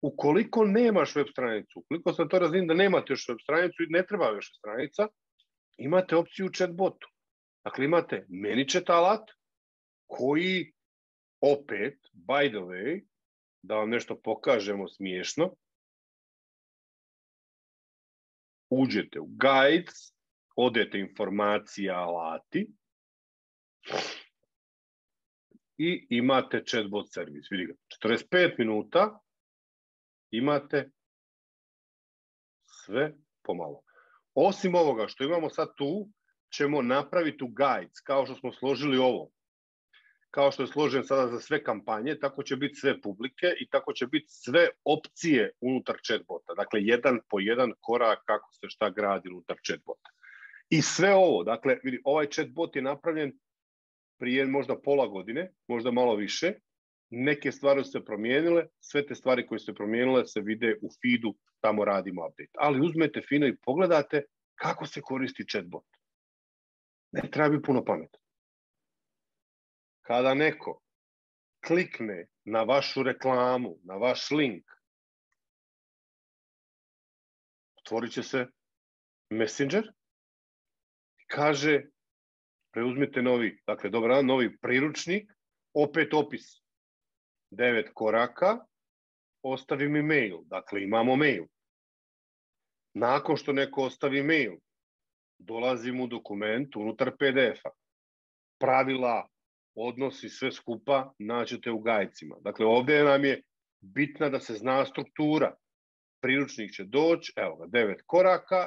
Ukoliko nemaš web stranicu, ukoliko sam to razvijem da nemate još web stranicu i ne treba još stranica, imate opciju u chatbotu. Dakle, imate ManyChat alat koji opet, by the way, da vam nešto pokažemo smiješno, uđete u guides, odete informacija alati i imate chatbot servis. Vidi ga, 45 minuta imate sve pomalo. Osim ovoga što imamo sad tu, ćemo napraviti u guides, kao što smo složili ovo. Kao što je složen sada za sve kampanje, tako će biti sve publike i tako će biti sve opcije unutar chatbota. Dakle, jedan po jedan korak kako se šta gradi unutar chatbota. I sve ovo, dakle, vidi, ovaj chatbot je napravljen prije možda pola godine, možda malo više. Neke stvari su se promijenile, sve te stvari koje su se promijenile se vide u feedu, tamo radimo update. Ali uzmete fino i pogledate kako se koristi chatbot. Ne treba biti puno pametno. Kada neko klikne na vašu reklamu, na vaš link, otvorit će se Messenger i kaže preuzmite novi, dakle, dobro, novi priručnik, opet opis 9 koraka, ostavi mi mail, dakle imamo mail. Nakon što neko ostavi mail, dolazi mu dokument unutar PDF-a. Pravila, odnosi, sve skupa nađete u gajcima. Dakle, ovdje nam je bitna da se zna struktura. Priručnik će doći, evo ga, 9 koraka